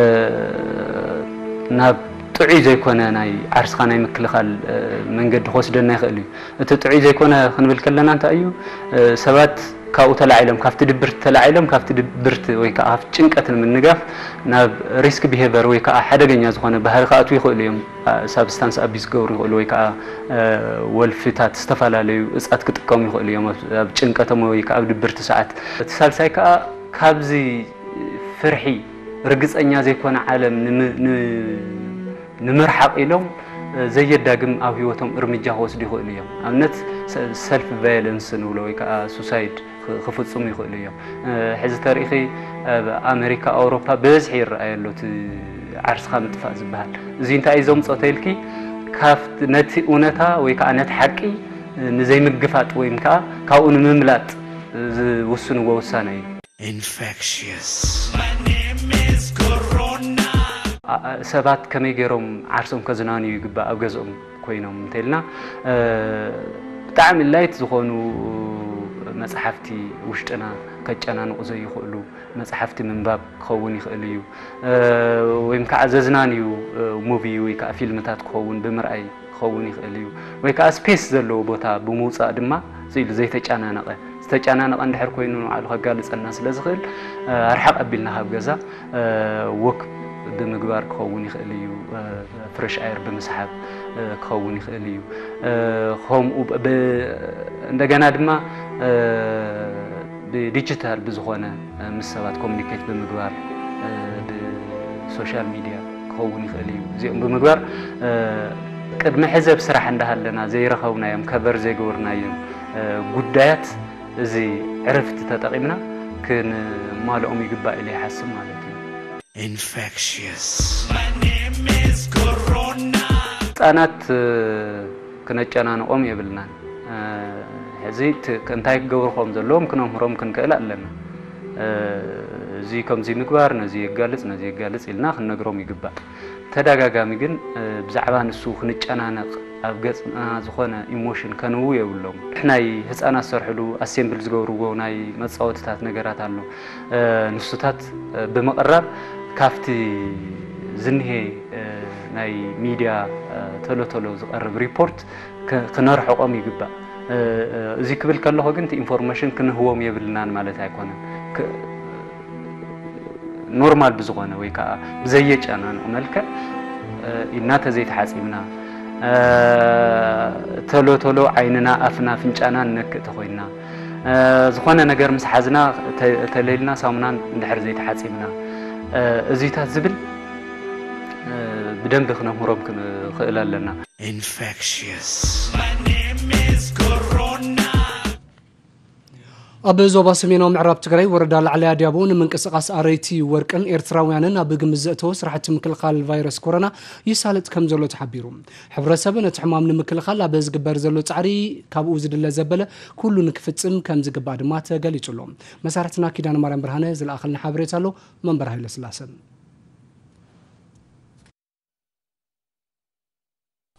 ናብ ጥዑይ ዘይኮነ ናይ ዓርስኻ ናይ ምክልኻል፣ እ፣ መንገዲ ክወስደና ይኽእል እዩ። እቲ ጥዑይ ዘይኮነ ክንብል ከለና እንታይ እዩ? እ፣ ሰባት ካብኡ ተላዒሎም፣ ካብቲ ድብርቲ ተላዒሎም፣ ካብቲ ድብርቲ ወይ ከዓ ካብቲ ጭንቀት ንምንጋፍ ናብ ሪስክ ቢሄቨር ወይ ከዓ ሓደገኛ ዝኾነ ባህሪ ክኣትዉ ይኽእሉ እዮም። እ፣ ሳብስታንስ ኣቢዝ ክገብሩ ይኽእሉ ወይ ከዓ፣ እ፣ ወልፍታት፣ ዝተፈላለዩ እጻት ክጥቀሙ ይኽእሉ እዮም ኣብ፣ ኣብ ጭንቀቶም ወይ ከዓ ኣብ ድብርቲ ሰዓት። እቲ ሳልሳይ ከዓ ካብዚ ፍርሒ፣ ርግጸኛ ዘይኮነ ዓለም ንም-፣ ን-፣ ንምርሓቕ ኢሎም፣ እ፣ ዘየዳግም ኣብ ህይወቶም እርምጃ ክወስዱ ይኽእሉ እዮም። ኣብነት ሰ-፣ ሰልፍ ቫዮለንስ ንብሎ ወይ ከዓ ሱሳይድ ክ-፣ ክፍጽሙ ይኽእሉ እዮም። እ፣ ሕዚ ተሪእኺ ኣብ ኣሜሪካ፣ ኣውሮፓ ብበዝሒ ይረኣይ ኣሎ እቲ ዓርስኻ ምጥፋእ ዝበሃል። እዚ እንታይ እዩ ዘምጾ ተይልኪ፣ ካብቲ፣ ነቲ እውነታ ወይ ከዓ ነቲ ሓቂ ንዘይምግፋጥ ወይ ከዓ ካብኡ ንምምላጥ ዝውስንዎ ውሳነ እዩ። Infectious. ኣ-፣ ኣ-፣ ሰባት ከመይ ገይሮም ዓርሶም ከዝናንዩ ይግባእ ኣብ ገዝኦም ኮይኖም እንተልና፣ እ፣ ብጣዕሚ ላይት ዝኾኑ መጽሓፍቲ ውሽጥና ከጨናንቑ ዘይኽእሉ መጽሓፍቲ ምንባብ ክኸውን ይኽእል እዩ። እ፣ ወይም ከዓ ዘዝናንዩ፣ እ፣ ሙቪ ወይ ከዓ ፊልምታት ክኸውን ብምርኣይ ክኸውን ይኽእል እዩ። ወይ ከዓ ስፔስ ዘለዎ ቦታ ብምውጻእ ድማ፣ ስኢሉ ዘይተጨናነቐ፣ ዝተጨናነቐ እንድሕር ኮይኑ ንባዕሉ ከጋልጸልና ስለ ዝኽእል፣ እ፣ ኣርሓቕ ኣቢልና ካብ ገዛ፣ እ፣ ወክ ብምግባር ክኸውን ይኽእል እዩ። እ፣ ፍረሽ ኣየር ብምስሓብ፣ እ፣ ክኸውን ይኽእል እዩ። እ፣ ከምኡ ብ-፣ ብ-፣ እንደገና ድማ፣ እ፣ ብዲጂታል ብዝኾነ፣ እ፣ ምስ ሰባት ኮሚኒኬት ብምግባር፣ እ፣ ብሶሻል ሚድያ ክኸውን ይኽእል እዩ። እዚኦም ብምግባር፣ እ፣ ቅድሚ ሕዚ ኣብ ስራሕ እንዳሃለና ዘይረኸብናዮም፣ ከቨር ዘይገበርናዮም፣ እ፣ ጉዳያት እዚ ዕረፍቲ ተጠቒምና ክንማልኦም ይግባእ ኢለ ይሓስብ ማለት እዩ። Infectious. My name is Corona. ህጻናት፣ እ፣ ክነጨናንቖም የብልናን። እ፣ ሕዚ ት-፣ እንታይ ክገብሩ ከም ዘለዎም ክነምህሮም ክንክእል ኣለና። እ፣ እዚ ከምዚ ምግባር፣ ነዚ የጋልጽ፣ ነዚ የጋልጽ ኢልና ክንነግሮም ይግባእ። ተደጋጋሚ ግን፣ እ፣ ብዛዕባ ንሱ ክንጨናነቕ፣ ኣብ ገጽና ዝኾነ ኢሞሽን ከንውው የብሎም። ናይ ህጻናት ዝሰርሕሉ ኣሴምብል ዝገብርዎ ናይ መጻወትታት ነገራት ኣሎ። እ፣ ንሱታት፣ እ፣ ብምቕራብ ካብቲ ዝንሄ፣ እ፣ ናይ ሚድያ፣ እ፣ ቶሎ ቶሎ ዝቐርብ ሪፖርት ክ-፣ ክነርሕቖም ይግባእ። እ፣ እ፣ እዚ ክብል ከለኹ ግን እቲ ኢንፎርሜሽን ክንህቦም የብልናን ማለት ኣይኮነን። ክ-፣ ኖርማል ብዝኾነ ወይ ከዓ ብዘየጨናንቕ መልክዕ፣ እ፣ ኢድና ተዘይተሓፂብና፣ እ፣ ተሎ ተሎ ዓይንና፣ ኣፍና፣ ኣፍንጫና ንነክእ ተኾይንና፣ እ፣ ዝኾነ ነገር ምስ ሓዝና ተ-፣ ተለይልና ሳሙናን እንድሕር ዘይተሓፂብና፣ እ፣ እዚታት ዝብል፣ እ፣ ብደንቢ ክነምህሮም ክንኽእል ኣለና። Infectious. My name is Corona. ኣብ ዞባ ሰሜናዊ ምዕራብ ትግራይ ወረዳ ላዕላይ ኣድያቦ ንምንቅስቓስ ኣረይቲ ወርቅን ኤርትራውያንን ኣብ ግምት ዘእተወ ስራሕቲ ምክልኻል ቫይረስ ኮሮና ይሳለጥ ከም ዘሎ ተሓቢሩ። ሕብረተሰብ ነቲ ሕማም ንምክልኻል ኣብ ዝግበር ዘሎ ጻዕሪ ካብኡ ዝድለ ዘበለ ኩሉ ንክፍጽም ከም ዝግባእ ድማ ተገሊጹ ኣሎ። መሳርሕትና ኪዳነ ማርያም ብርሃነ ዝለኣኸልና ሓበሬታ ኣሎ። መንበር ሃይለ ስላሰ።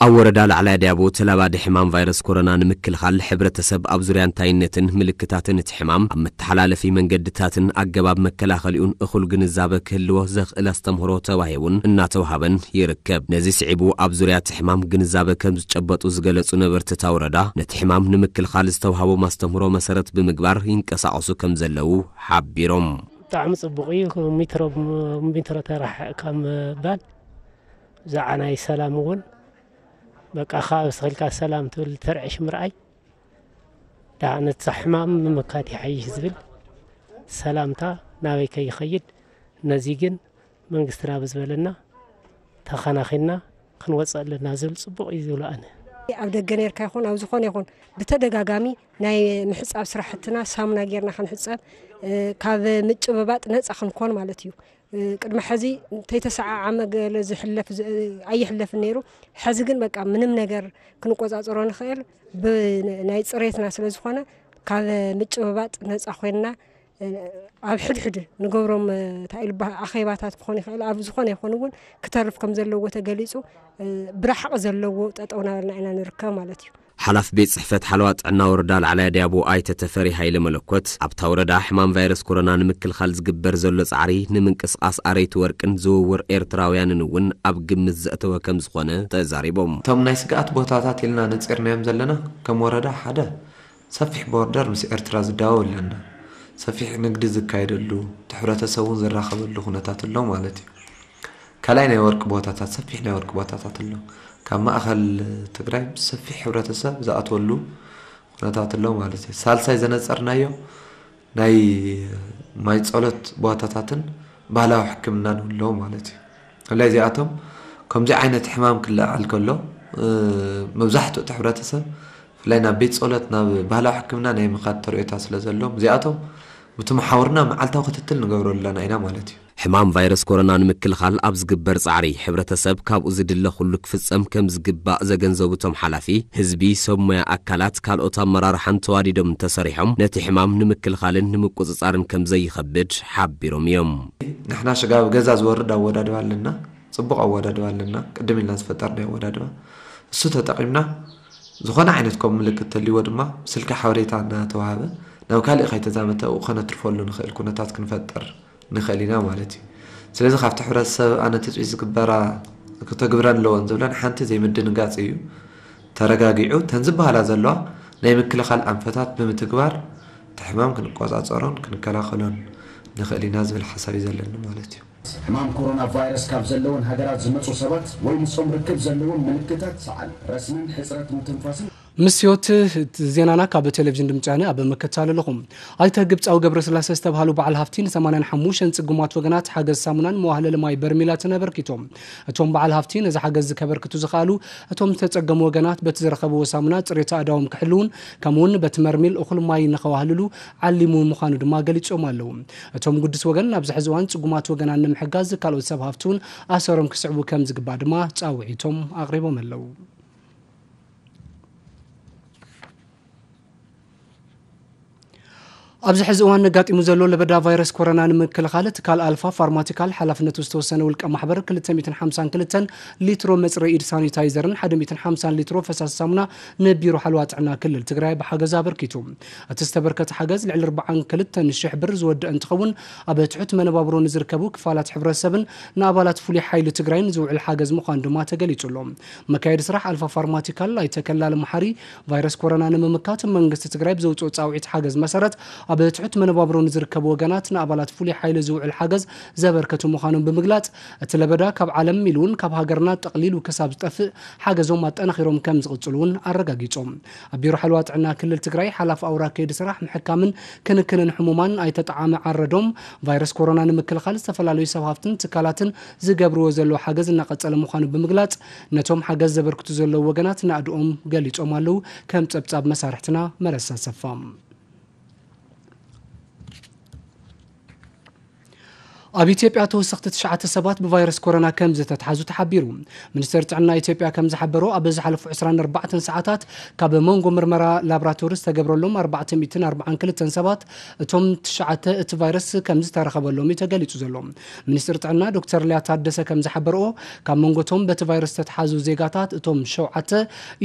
ኣብ ወረዳ ላዕላይ ኣድያቦ ተላባዲ ሕማም ቫይረስ ኮሮና ንምክልኻል ሕብረተሰብ ኣብ ዙርያ እንታይነትን ምልክታትን እቲ ሕማም፣ ኣብ መተሓላለፊ መንገድታትን ኣገባብ መከላኸሊኡን እኹል ግንዛበ ክህልዎ ዘኽእል ኣስተምህሮ ተዋሂቡን እናተውሃበን ይርከብ። ነዚ ስዒቡ ኣብ ዙርያ እቲ ሕማም ግንዛበ ከም ዝጨበጡ ዝገለጹ ነበርቲ እታ ወረዳ፣ ነቲ ሕማም ንምክልኻል ዝተውሃቦም ኣስተምህሮ መሰረት ብምግባር ይንቀሳቐሱ ከም ዘለዉ ሓቢሮም። ብጣዕሚ ጽቡቕ እዩ። ሜትሮ ብሜትሮ ተራሕቕ ካብ ምባል፣ ብዛዕባ ናይ ሰላም እውን፣ በቃ፣ ካብ ስኺልካ ሰላም ትብል ተርዕሽ ምርኣይ፣ ደኣ ነቲ ሕማም ምምካት ይሓይሽ ዝብል ሰላምታ ናበይ ከይኸይድ፣ ነዚ ግን መንግስትና ብዝበለና ተኸናኺንና ክንወፅእ ኣለና ዝብል ጽቡቕ እዩ ዝብሎ ኣነ። ኣብ ደገ ነርካ ይኹን ኣብ ዝኾነ ይኹን ብተደጋጋሚ ናይ ምሕጻብ ስራሕትና ሳሙና ጌርና ክንሕጸብ፣ እ፣ ካብ ምጭብባጥ ነጻ ክንኮን ማለት እዩ። እ፣ ቅድሚ ሕዚ እንተይተሰዓዓመ ገለ ዝሕለፍ ዝ-፣ ኣይሕለፍን ነይሩ። ሕዚ ግን በቃ ምንም ነገር ክንቆጻጸሮ ንኽእል ብናይ ጽሬትና ስለ ዝኾነ ካብ ምጭብባጥ ነጻ ኮይንና፣ እ፣ ኣብ ሕድሕድ ንገብሮም፣ እ፣ እንታይ ኢሉ በ-፣ ኣኼባታት ክኾን ይኽእል፣ ኣብ ዝኾነ ይኹን እውን ክተርፍ ከም ዘለዎ ተገሊጹ፣ እ፣ ብራሕቂ ዘለዎ ጠጠው ናበልና ኢና ንርከብ ማለት እዩ። ሓላፊ ቤት ጽሕፈት ሓለዋ ጥዕና ወረዳ ላዕላይ ኣድያቦ ኣይተ ተፈሪ ሃይለ መለኮት፣ ኣብታ ወረዳ ሕማም ቫይረስ ኮሮና ንምክልኻል ዝግበር ዘሎ ጻዕሪ ንምንቅስቓስ ኣረይቲ ወርቅን ዝውውር ኤርትራውያንን እውን ኣብ ግምት ዘእተወ ከም ዝኾነ ተዛሪቦም። እቶም ናይ ስግኣት ቦታታት ኢልና ነጺርናዮም ዘለና፣ ከም ወረዳ ሓደ ሰፊሕ ቦርደር ምስ ኤርትራ ዝዳወብ ኣለና። ሰፊሕ ንግዲ ዝካየደሉ፣ እቲ ሕብረተሰብ እውን ዝራኸበሉ ኩነታት ኣሎ ማለት እዩ። ካልኣይ ናይ ወርቂ ቦታታት፣ ሰፊሕ ናይ ወርቂ ቦታታት ኣሎ። ካብ ማእኸል ትግራይ ሰፊሕ ሕብረተሰብ ዝኣትወሉ ኩነታት ኣሎ ማለት እዩ። ሳልሳይ ዘነጸርናዮ ናይ ማይ ጸሎት ቦታታትን ባህላዊ ሕክምናን ኣሎ ማለት እዩ። ብፍላይ እዚኣቶም ከምዚ ዓይነት ሕማም ክለዓል ከሎ፣ እ፣ መብዛሕትኡ እቲ ሕብረተሰብ ብፍላይ ናብ ቤት ጸሎት፣ ናብ ባህላዊ ሕክምና ናይ ምኻድ ተርእዮታት ስለ ዘለዎም፣ እዚኣቶም ብቲ መሓውርና መዓልታዊ ክትትል ንገብረሉ ኣለና ኢና ማለት እዩ። ሕማም ቫይረስ ኮሮና ንምክልኻል ኣብ ዝግበር ጻዕሪ፣ ሕብረተሰብ ካብኡ ዝድለ ኩሉ ክፍጸም ከም ዝግባእ ዘገንዘቡ እቶም ሓላፊ፣ ህዝቢ፣ ሰብ ሞያ ኣካላት፣ ካልኦት ኣመራርሓን ተዋዲዶም እንተሰሪሖም፣ ነቲ ሕማም ንምክልኻልን ንምቁጽጻርን ከም ዘይኸብድ ሓቢሮም እዮም። ንሕና ሽጋብ ገዛ ዝወርድ ኣወዳድባ ኣለና፣ ጽቡቕ ኣወዳድባ ኣለና፣ ቅድም ኢልና ዝፈጠርናዮ ኣወዳድባ። እሱ ተጠቒምና፣ ዝኾነ ዓይነት ከም ምልክት ተልይዎ ድማ፣ ስልኪ ሓበሬታ እናተዋሃበ፣ ናብ ካልእ ከይተዛመተ ኣብኡ ከነትርፈሉ ንኽእል ኩነታት ክንፈጥር ንኽእል ኢና ማለት እዩ። ስለዚ ካብቲ ሕብረተሰብ ኣነ ትፅቢት ዝግበራ ክተግብረን ኣለወን ዝብለን ሓንቲ ዘይምድንጋፅ እዩ። ተረጋጊዑ እተን ዝበሃላ ዘለዋ ናይ ምክልኻል ኣንፈታት ብምትግባር እቲ ሕማም ክንቆፃፀሮን ክንከላኸሎን ንኽእል ኢና ዝብል ሓሳብ እዩ ዘለኒ ማለት እዩ። ሕማም ኮሮና ቫይረስ ካብ ዘለወን ሃገራት ዝመፁ ሰባት ወይ ምስኦም ርክብ ዘለዎም ምልክታት ሰዓል፣ ረስንን ሕፅረት ምትንፋስን ምስዮት ዜናና ካብ ቴሌቪዥን ድምፂ ወያነ ኣብ ምክትታል ኣለኹም። ኣይተ ግብፃዊ ገብረስላሴ ዝተብሃሉ በዓል ሃፍቲ ን ሰማንያን ሓሙሽተን ፅጉማት ወገናት ሓገዝ ሳሙናን መዋህለሊ ማይ በርሚላትን ኣበርኪቶም። እቶም በዓል ሃፍቲ ነዚ ሓገዝ ከበርክቱ ዝኸኣሉ እቶም ዝተፀገሙ ወገናት በቲ ዝረኸብዎ ሳሙና ፅሬት ኣእዳዎም ክሕልውን ከምኡውን በቲ መርሚል እኹል ማይ ንኸዋህልሉ ዓሊሙ ምዃኑ ድማ ገሊፆም ኣለዉ። እቶም ግዱስ ወገን ኣብዚ ሕዚ እዋን ፅጉማት ወገናን ንምሕጋዝ ካልኦት ሰብ ሃፍቲ እውን ኣሰሮም ክስዕቡ ከም ዝግባእ ድማ ፃውዒቶም ኣቕሪቦም ኣለዉ። ኣብዚ ሕዚ እዋን ነጋጢሙ ዘሎ ለበዳ ቫይረስ ኮሮና ንምክልኻል ትካል ኣልፋ ፋርማቲካል ሓላፍነቱ ዝተወሰነ ውልቀ ማሕበር ክልተ ሚእትን ሓምሳን ክልተን ሊትሮ መፅረዪ ኢድ ሳኒታይዘርን ሓደ ሚእትን ሓምሳን ሊትሮ ፈሳሲ ሳሙና ንቢሮ ሓለዋ ጥዕና ክልል ትግራይ ብሓገዝ ኣበርኪቱ። እቲ ዝተበርከተ ሓገዝ ልዕሊ ኣርባዓን ክልተን ሽሕ ብር ዝወደአ እንትኸውን፣ ኣብ ትሑት መነባብሮ ንዝርከቡ ክፋላት ሕብረተሰብን ንኣባላት ፍሉይ ሓይሊ ትግራይን ዝውዕል ሓገዝ ምዃኑ ድማ ተገሊጹ ኣሎ። መካየዲ ስራሕ ኣልፋ ፋርማቲካል ኣይተ ከላለ መሓሪ፣ ቫይረስ ኮሮና ንምምካት መንግስቲ ትግራይ ብዘውፅኦ ፃውዒት ሓገዝ መሰረት፣ ኣብ ትሑት መነባብሮ ንዝርከቡ ወገናት ንኣባላት ፍሉይ ሓይሊ ዝውዕል ሓገዝ ዘበርከቱ ምዃኖም ብምግላፅ፣ እቲ ለበዳ ካብ ዓለም ኢሉ እውን ካብ ሃገርና ጠቕሊሉ ክሳብ ዝጠፍእ ሓገዞም ኣጠናኺሮም ከም ዝቕፅሉ እውን ኣረጋጊፆም። ኣብ ቢሮ ሓለዋ ጥዕና ክልል ትግራይ ሓላፊ ኣውራ ከይዲ ስራሕ ምሕካምን ክንክንን ሕሙማን ኣይተ ጠዓመ ዓረዶም፣ ቫይረስ ኮሮና ንምክልኻል ዝተፈላለዩ ሰብ ሃፍትን ትካላትን ዝገብርዎ ዘለዉ ሓገዝ እናቐፀለ ምዃኑ ብምግላፅ፣ ነቶም ሓገዝ ዘበርክቱ ዘለዉ ወገናት ናእድኦም ገሊፆም ኣለዉ። ከም ፀብፃብ መሳርሕትና መረሳ ሰፋ። ኣብ ኢትዮጵያ ተወሰኽቲ ትሽዓተ ሰባት ብቫይረስ ኮሮና ከም ዝተትሓዙ ተሓቢሩ። ሚኒስቴር ጥዕና ኢትዮጵያ ከም ዝሓበሮ፣ ኣብ ዝሓለፉ ዕስራን ኣርባዕተን ሰዓታት ካብ መንጎ ምርመራ ላብራቶሪ ዝተገብረሎም ኣርባዕተ ሚእትን ኣርባዓን ክልተን ሰባት እቶም ትሽዓተ እቲ ቫይረስ ከም ዝተረኸበሎም እዩ ተገሊጹ ዘሎ። ሚኒስትር ጥዕና ዶክተር ሊያ ታደሰ ከም ዝሓበርኦ፣ ካብ መንጎቶም በቲ ቫይረስ ዝተትሓዙ ዜጋታት እቶም ሸውዓተ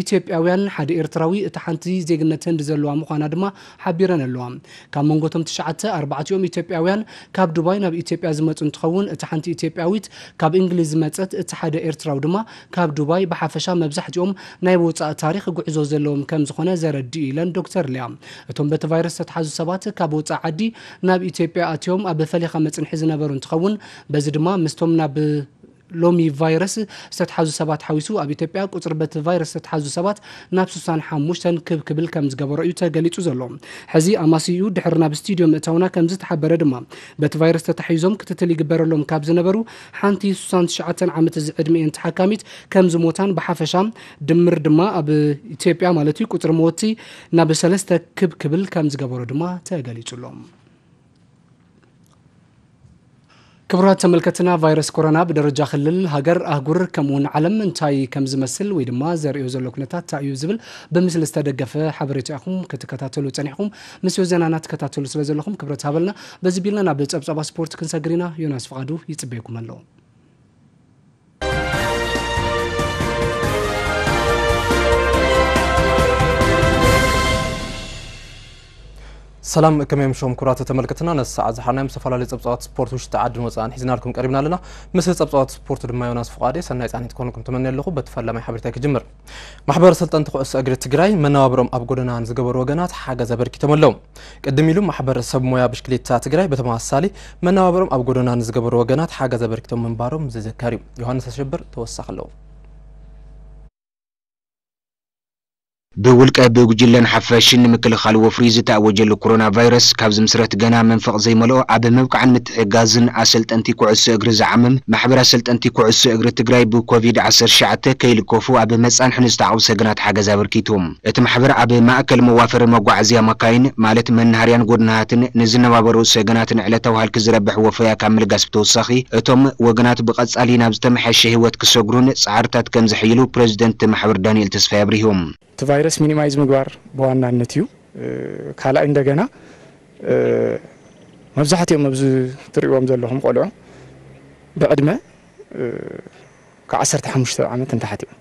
ኢትዮጵያውያን፣ ሓደ ኤርትራዊ፣ እታ ሓንቲ ዜግነት ህንዲ ዘለዋ ምዃና ድማ ሓቢረን ኣለዋ። ካብ መንጎቶም ትሽዓተ፣ ኣርባዕቲኦም ኢትዮጵያውያን ካብ ዱባይ ናብ ኢትዮጵያ ዝመጹ እንትኸውን፣ እቲ ሓንቲ ኢትዮጵያዊት ካብ እንግሊዝ ዝመጸት፣ እቲ ሓደ ኤርትራዊ ድማ ካብ ዱባይ፣ ብሓፈሻ መብዛሕትኦም ናይ ወጻኢ ታሪኽ ጉዕዞ ዘለዎም ከም ዝኾነ ዘረድእ ኢለን ዶክተር ሊያ። እቶም በቲ ቫይረስ ዝተትሓዙ ሰባት ካብ ወጻኢ ዓዲ ናብ ኢትዮጵያ ኣትዮም ኣብ ፈሊኻ መጽንሒ ዝነበሩ እንትኸውን፣ በዚ ድማ ምስቶም ናብ ሎሚ ቫይረስ ዝተትሓዙ ሰባት ሓዊሱ ኣብ ኢትዮጵያ ቁጽሪ በቲ ቫይረስ ዝተትሓዙ ሰባት ናብ ስሳን ሓሙሽተን ክብ ክብል ከም ዝገበሮ እዩ ተገሊጹ ዘሎ። ሕዚ ኣማስይኡ ድሕሪ ናብ ስቱድዮ ምእታውና ከም ዝተሓበረ ድማ፣ በቲ ቫይረስ ተታሒዞም ክትትል ይግበረሎም ካብ ዝነበሩ ሓንቲ ስሳን ትሽዓተን ዓመት ዝዕድሚኤን ተሓካሚት ከም ዝሞታን ብሓፈሻ ድምር ድማ ኣብ ኢትዮጵያ ማለት እዩ ቁጽሪ መወቲ ናብ ሰለስተ ክብ ክብል ከም ዝገበሮ ድማ ተገሊጹ ኣሎ። ክቡራት ተመልከትና፣ ቫይረስ ኮሮና ብደረጃ ክልል፣ ሃገር፣ ኣህጉር ከምኡውን ዓለም እንታይ ከም ዝመስል ወይ ድማ ዘርእዮ ዘሎ ኩነታት እንታይ እዩ ዝብል ብምስሊ ዝተደገፈ ሓበሬታ ኢኹም ክትከታተሉ ጸኒሕኩም። ምስዮ ዜናና ትከታተሉ ስለ ዘለኹም ክብረት ሃበልና። በዚ ቢልና ናብ ጸብጻባ ስፖርት ክንሰግር ኢና። ዮናስ ፍቓዱ ይጽበየኩም ኣሎ። ሰላም፣ ከመይ ኣምሽኹም ክቡራት ተመልከትና። ነዚ ሰዓት ዝሓልናዮም ዝተፈላለዩ ጸብጻባት ስፖርት ውሽጢ ዓድን ወጻእን ሒዝናልኩም ቀሪብና ኣለና። ምስ ጸብጻባት ስፖርት ድማ ዮናስ ፍቓዴ ሰናይ ጻኒት ክኾንኩም ትመኒ ኣለኹ። በቲ ፈላማይ ሓበሬታ ክጅምር። ማሕበር ሰልጠንቲ ኩዕሶ እግሪ ትግራይ መነባብሮም ኣብ ጎደና ንዝገበሩ ወገናት ሓገዝ ኣበርኪቶም ኣለዉ። ቅድም ኢሉ ማሕበር ሰብ ሞያ ብሽክሌታ ትግራይ በተመሳሳሊ መነባብሮም ኣብ ጎደና ንዝገበሩ ወገናት ሓገዝ ኣበርኪቶም ምንባሮም ዝዝከር እዩ። ዮሃንስ ኣሸብር ተወሳኺ ኣለዎ። ብውልቀ ብጉጅለን ሓፈሽን ንምክልኻል ወፍሪ ዝተኣወጀሉ ኮሮና ቫይረስ ካብ ዝምስረት ገና መንፈቕ ዘይመልኦ ኣብ ምብቃዕን ምትሕጋዝን ኣሰልጠንቲ ኩዕሶ እግሪ ዝዓምም ማሕበር ኣሰልጠንቲ ኩዕሶ እግሪ ትግራይ ብኮቪድ ዓሰርተ ትሽዓተ ከይልከፉ ኣብ መጻንሒ ንዝተዓቑ ሰገናት ሓገዝ ኣበርኪቱ። እቲ ማሕበር ኣብ ማእከል መዋፈሪ መጓዓዝያ መካይን ማለት መናሃርያን ጎድናሃትን ንዝነባበሩ ሰገናትን ዕለታዊ ሃልኪ ዝረብሕ ወፈያ ካብ ምልጋስ ብተወሳኺ እቶም ወገናት ብቐጻሊ ናብ ዝተመሓየሸ ህይወት ክሰግሩን ጻዕርታት ከም ዘሕይሉ ፕረዚደንት ማሕበር ዳንኤል ተስፋይ ኣብሪሁ። እቲ ቫይረስ ሚኒማይዝ ምግባር ብዋናነት እዩ። እ፣ ካልኣይ እንደገና፣ እ፣ መብዛሕትኦም ኣብዚ ትርእይዎም ዘለኹም ቆልዑ ብዕድመ፣ እ፣ ካብ ዓሰርተ ሓሙሽተ ዓመት ንታሕቲ እዮም።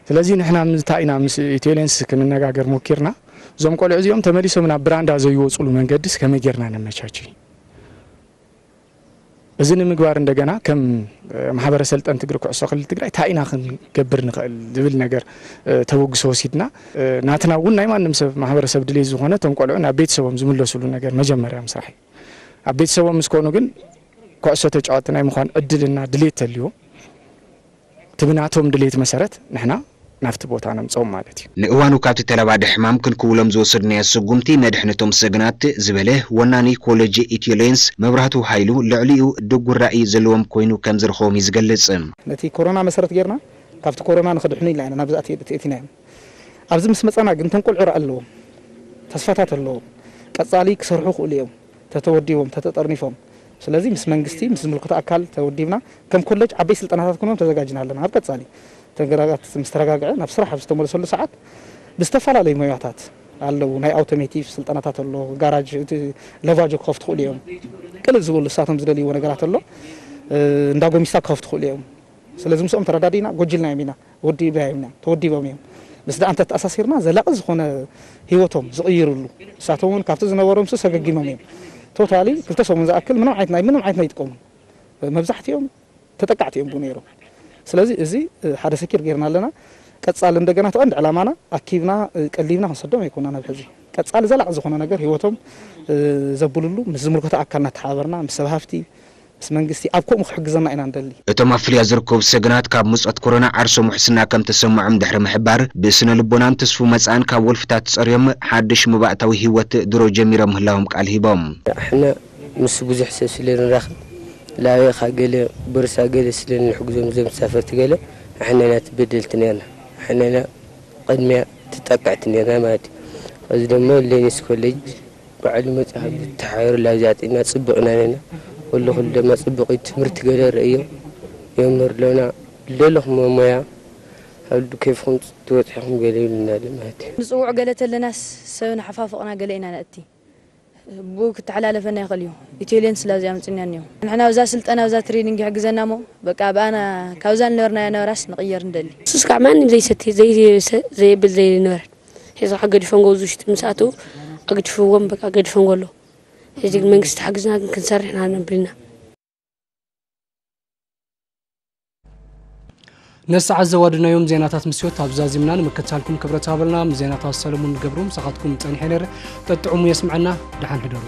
ስለዚ ንሕና እንታይ ኢና ምስ ኢትዮ ኤሌንስ ክንነጋገር ሞኪርና፣ እዞም ቆልዑ እዚኦም ተመሊሶም ናብ ብራንዳ ዘይወፅሉ መንገድስ ከመይ ጌርና ነመቻች? እዚ ንምግባር እንደገና ከም፣ እ፣ ማሕበረ ሰልጠንቲ እግሪ ኩዕሶ ክልል ትግራይ እንታይ ኢና ክንገብር ንኽእል ዝብል ነገር፣ እ፣ ተበግሶ ወሲድና፣ እ፣ ናትና እውን ናይ ማንም ሰብ ማሕበረሰብ ድሌት ዝኾነ እቶም ቆልዑ ናብ ቤተሰቦም ዝምለሱሉ ነገር መጀመርያ ምስራሕ እዩ። ኣብ ቤተሰቦም ምስ ኮኑ ግን ኩዕሶ ተጫወቲ ናይ ምዃን ዕድልና ድሌት ተልዎ እቲ ብናቶም ድሌት መሰረት ንሕና ናብቲ ቦታ ነምፅኦም ማለት እዩ። ንእዋኑ ካብቲ ተለባዲ ሕማም ክንክውሎም ዝወሰድናዮ ስጉምቲ መድሕነቶም ሰግናት ዝበለ ወናኒ ኮሌጅ ኢትዮ ሌንስ መብራህቱ ሃይሉ ልዕሊኡ ድጉር ራእይ ዘለዎም ኮይኑ ከም ዝረኸቦም እዩ ዝገልጽ። ነቲ ኮሮና መሰረት ጌርና ካብቲ ኮሮና ንኽድሕኑ ኢልና ኢና ናብዚ ኣቲ-፣ ኣቲናዮም። ኣብዚ ምስ መጻና ግን እቶም ቆልዑ ራኢ ኣለዎም፣ ተስፋታት ኣለዎም፣ ቀጻሊ ክሰርሑ ክእሉ እዮም። ተተወዲቦም፣ ተተጠርኒፎም። ስለዚ ምስ መንግስቲ፣ ምስ ዝምልከቶ ኣካል ተወዲብና፣ ከም ኮሌጅ ዓበይ ስልጠናታት ክንህቦም ተዘጋጅና ኣለና። ኣብ ቀጻሊ፣ እቲ ነገራት ምስ ተረጋግዐ፣ ናብ ስራሕ ኣብ ዝተመለሰሉ ሰዓት፣ ብዝተፈላለዩ ሞያታት ኣለዉ። ናይ ኣውቶሜቲቭ ስልጠናታት ኣሎ፣ ጋራጅ፣ እቲ ለቫጆ ክኸፍቱ ክእሉ እዮም። ቅልል ዝበሉ ንሳቶም ዝደልይዎ ነገራት ኣሎ፣ እ፣ እንዳ ጎሚስታ ክኸፍቱ ክእሉ እዮም። ስለዚ ምስኦም ተረዳዲና ጎጅልናዮም ኢና፣ ወዲብናዮም ኢና፣ ተወዲቦም እዮም። ምስ ደኣ እንተተኣሳሲርና ዘላቒ ዝኾነ ህይወቶም ዝቕይርሉ፣ ንሳቶም እውን ካብቲ ዝነበሮም ሱ ሰገጊሞም እዮም። ቶታሊ ክልተ ሰሙን ዝኣክል ምንም ዓይነት ናይ፣ ምንም ዓይነት ኣይጥቀሙን። መብዛሕትኦም ተጠቃዕቲ እዮም ብኡ ነይሮም። ስለዚ እዚ፣ እ፣ ሓደ ሰኪር ጌርና ኣለና። ቀጻሊ እንደገና እቲ ቀንዲ ዕላማና ኣኪብና፣ እ፣ ቀሊብና ክንሰዶም ኣይኮናን። ኣብ ሕዚ ቀጻሊ ዘላቒ ዝኾነ ነገር ህይወቶም፣ እ፣ ዘብልሉ ምስ ዝምልከቶ ኣካል እናተሓባበርና ምስ ሰብ ሃፍቲ ምስ መንግስቲ ኣብ ከምኡ ክሕግዘና ኢና ንደሊ። እቶም ኣብ ፍልያ ዝርከቡ ሰገናት ካብ ምጽኣት ኮሮና ዓርሶም ውሕስና ከም ተሰምዖም ድሕሪ ምሕባር፣ ብስነ ልቦናን ተስፉ መጻእን ካብ ወልፍታት ጸርዮም ሓድሽ መባእታዊ ህይወት ድሮ ጀሚሮም ምህላዎም ቃል ሂቦም። ኣሕና ምስ ብዙሕ ሰብ ስለ ንራኸብ፣ ላበኻ ገለ፣ ቦርሳ ገለ ስለ ንሕግዞም እዞም ተሳፈርቲ ገለ፣ ኣሕና ኢና ተበደልቲ ነርና። ኣሕና ኢና ቅድሚያ ተጠቃዕቲ ነርና ማለት እዩ። እዚ ደሞ ሌኒስ ኮሌጅ ባዕሉ መጽሓፍ ተሓይሩ ላብዚ ኣጽና ጽቡቕ ኢና ነና። ኩሉ ኩሉ ድማ ጽቡቕ እዩ። ትምህርቲ ገለ ርእዮ የምህር ኣለና። ደለኹም ሞያ ኣብ ኬፍኹም ትበጽሕኹም ገለ ይብሉና ኣሎ ማለት እዩ። ንጽውዕ ገለ ተለናስ ሰብ ንሓፋፍቕና ገለ ኢና ነእቲ። ብኡ ክተሓላለፈና ይኽእል እዩ። ኢትዮ ሌንስ ላብዚ ኣምጽእና እኒኦ። ንሕና ኣብዛ ስልጠና ኣብዛ ትሬኒንግ ይሕግዘና እሞ በቃ ብኣና ካብዛ ንነበርናዮ ነበራስ ንቕየር ንደሊ። ንሱስ ከዓ ማንም ዘይሰቲ፣ ዘይሰ-፣ ዘየብል ዘይነበረ። ሕዚ ከዓ ገዲፎም ገው ውሽጢ ምስ ኣተዉ ኣግድፍዎም፣ በቃ ገዲፎም ገሎ። ሕዚ ግን መንግስቲ ሓግዝና ግን ክንሰርሕ ኢና ነብልና። ነሰዓት ዘዋድናዮም ዜናታት ምስዮት ኣብ ዛዚምና ንምክትታልኩም ክብረት ሃበልና። ምስ ዜናታት ሰለሙን ገብሩ ምሳኻትኩም ጸኒሐ ነይረ። ጠጥዑሙ የስምዐና። ደሓን ሕደሩ።